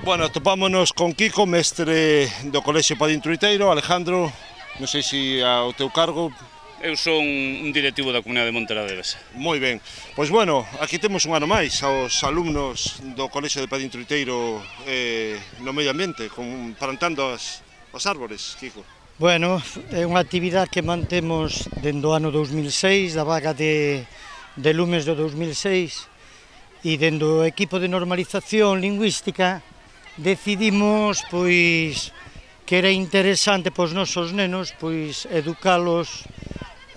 Bueno, topámonos con Kiko, mestre do Colexio Padín Truiteiro. Alejandro, non sei se ao teu cargo. Eu son un directivo da Comunidade de Monte da Devesa. Moi ben, pois bueno, aquí temos un ano máis aos alumnos do Colexio de Padín Truiteiro no medio ambiente, plantando os árbores, Kiko. Bueno, é unha actividade que mantemos dende o ano 2006, da vaga de lumes do 2006, e dende o equipo de normalización lingüística decidimos pois que era interesante para os nosos nenos pois educalos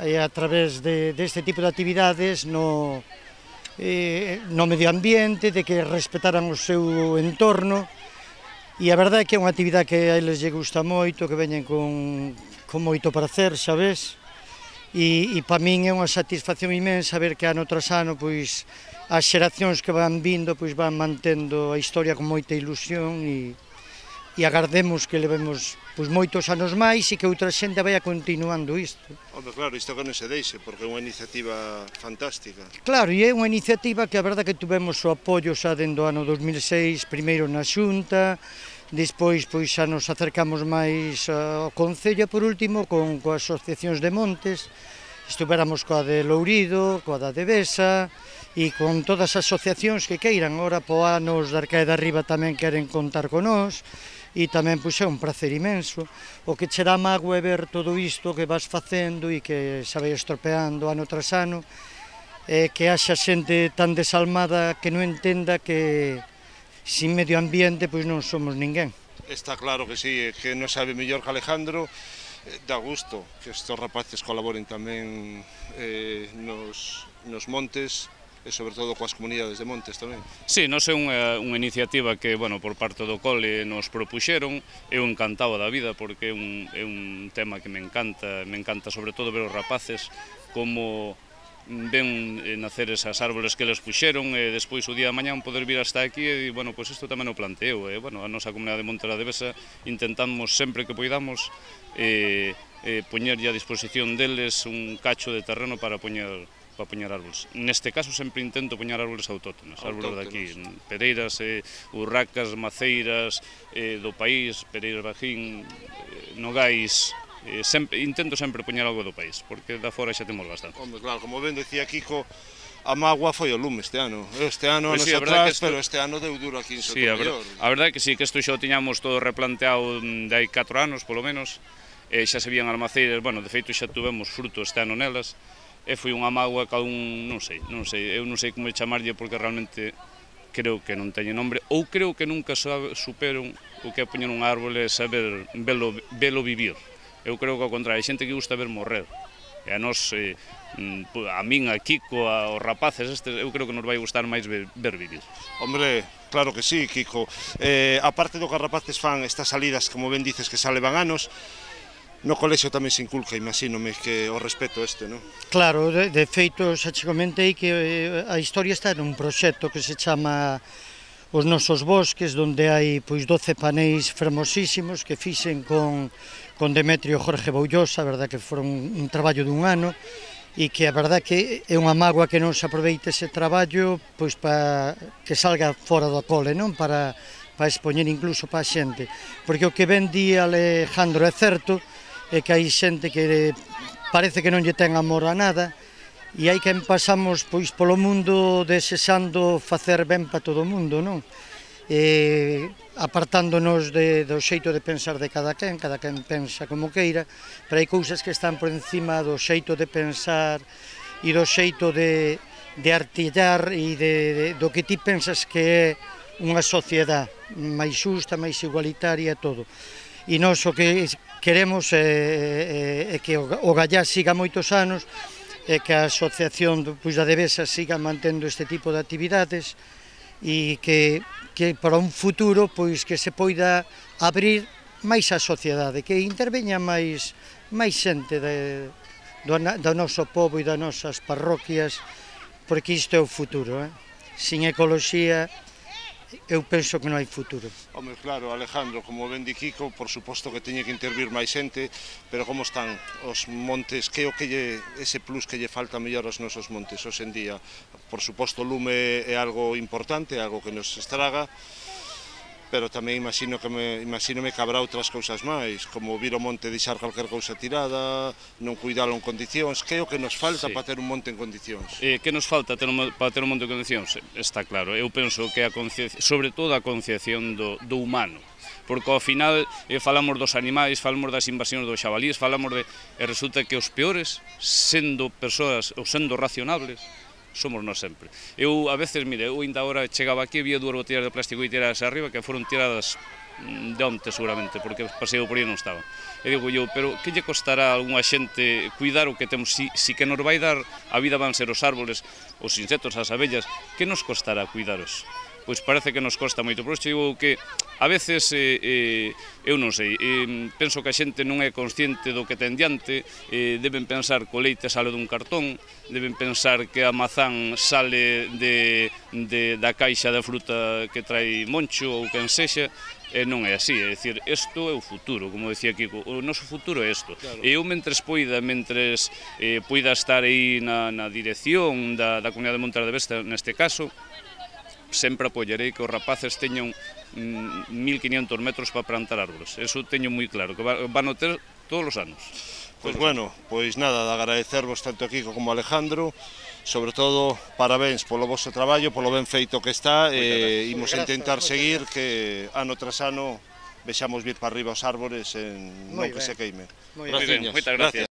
a través deste tipo de actividades no medio ambiente, de que respetaran o seu entorno, e a verdade é que é unha actividade que a eles lle gusta moito, que veñen con moito prazer, sabes? E para min é unha satisfacción inmensa ver que ano tras ano pois as xeracións que van vindo pois van mantendo a historia con moita ilusión e agardemos que levemos pois moitos anos máis e que outra xente vai continuando isto. Home, claro, isto que non se deixe, porque é unha iniciativa fantástica. Claro, e é unha iniciativa que a verdade que tuvemos o apoio xa dende o ano 2006, primeiro na Xunta, despois pois xa nos acercamos máis ao Concello e por último coas asociacións de montes, estuveramos coa de Lourido, coa da Devesa e con todas as asociacións que queiran. Ora po anos da Arcae de Arriba tamén queren contar con nós e tamén pois é un prazer imenso. O que che dá mágoa é ver todo isto que vas facendo e que xa vai estropeando ano tras ano, que haxa xente tan desalmada que non entenda que sin medio ambiente pois non somos ninguén. Está claro que sí, que non sabe mellor que Alejandro. Dá gusto que estes rapaces colaboren tamén nos montes e sobre todo coas comunidades de montes tamén. Sí, non é unha iniciativa que, bueno, por parte do cole nos propuxeron. Eu encantado da vida porque é un tema que me encanta sobre todo ver os rapaces como ven nacer esas árboles que les puxeron e despois o día de mañán poder vir hasta aquí e, bueno, pois isto tamén o planteo e, bueno, a nosa Comunidade de Monte da Devesa intentamos sempre que poidamos poñerlle a disposición deles un cacho de terreno para poñer árboles. Neste caso sempre intento poñer árboles autóctonos, árboles daqui, pereiras, urracas, maceiras do país, pereiras bajín, nogais. Intento sempre poñer algo do país, porque da fora xa temos bastante. Home, claro, como ben decía Kiko, a mágoa foi o lume este ano. Este ano Pois nos sí, atrás, pero este ano deu duro aquí en Sotomaior. A verdade é que sí, que isto xa o tiñamos todo replanteado de hai 4 anos, polo menos, xa se vían as maceiras, bueno, de feito xa tuvemos fruto este ano nelas, e foi unha mágoa que non sei, eu non sei como chamarlle porque realmente creo que non teñe nombre, ou creo que nunca superon o que é poñer un árbol e saber velo vivir. Eu creo que ao contrario, hai xente que gusta ver morrer, e a nós, a min, a Kiko, aos rapaces estes, eu creo que nos vai gustar máis ver vivir. Hombre, claro que sí, Kiko. Aparte do que os rapaces fan estas salidas, como ben dices, que xa levan anos, no colexio tamén se inculca, imagínome, que o respeto este, non? Claro, de feito, xa che comentei que a historia está nun proxecto que se chama Os Nosos Bosques, onde hai pois 12 paneis fermosísimos que fixen con Demetrio Jorge Boullosa, a verdade que foron un traballo dun ano, e que a verdade que é unha mágoa que non se aproveite ese traballo pois para que salga fora do cole, non? Para expoñer incluso para a xente, porque o que ben di Alejandro é certo, é que hai xente que parece que non lle ten amor a nada, e hai quen pasamos pois polo mundo desexando facer ben para todo o mundo, non? Apartándonos do xeito de pensar de cada quen pensa como queira, pero hai cousas que están por encima do xeito de pensar e do xeito de artillar e do que ti pensas que é unha sociedade máis xusta, máis igualitaria e todo. E nós o que queremos é que o Gallá siga moitos anos e que a asociación da Devesa siga mantendo este tipo de actividades e que para un futuro pois que se poida abrir máis a sociedade, que interveña máis xente do noso pobo e das nosas parroquias, porque isto é o futuro. Sin ecoloxía eu penso que non hai futuro. Home, claro, Alejandro, como ben di Kiko, por suposto que teñe que intervir máis xente, pero como están os montes? Que o que ese plus que lle falta mellor aos nosos montes hoxe en día? Por suposto, o lume é algo importante, algo que nos estraga, pero tamén imagínome que habrá outras cousas máis, como vir o monte e deixar calquer cousa tirada, non cuidalo en condicións, que é o que nos falta para ter un monte en condicións? Que nos falta para ter un monte en condicións? Está claro, eu penso que sobre todo a concienciación do humano, porque ao final falamos dos animais, falamos das invasións dos xabalíes, e resulta que os peores, sendo persoas ou sendo racionables, somos nós sempre. Eu, a veces, mire, eu ainda agora chegaba aquí, vía 2 botellas de plástico e tiradas arriba, que foron tiradas de onte seguramente, porque paseo por aí non estaban. E digo eu, pero que lle costará a algunha xente cuidar o que temos, si que nos vai dar a vida van ser os árboles, os insectos, as abellas, que nos costará cuidaros? Pois parece que nos costa moito. Por isto digo que a veces, eu non sei, penso que a xente non é consciente do que ten diante, deben pensar que o leite sale dun cartón, deben pensar que a mazán sale da caixa de fruta que trai Moncho ou quen sexa, e non é así, é dicir, isto é o futuro, como decía Kiko, o noso futuro é isto. E eu, mentres poida estar aí na dirección da Comunidade de Montes de Vesta, neste caso, sempre apoiarei que os rapaces teñan 1500 metros para plantar árboles. Eso teño moi claro, que van a ter todos os anos. Pois bueno, pois nada, de agradecervos tanto a Kiko como a Alejandro, sobre todo, parabéns polo vosso traballo, polo ben feito que está, e imos intentar seguir que ano tras ano vexamos vir para arriba os árbores non que se queime. Moi ben, moitas gracias.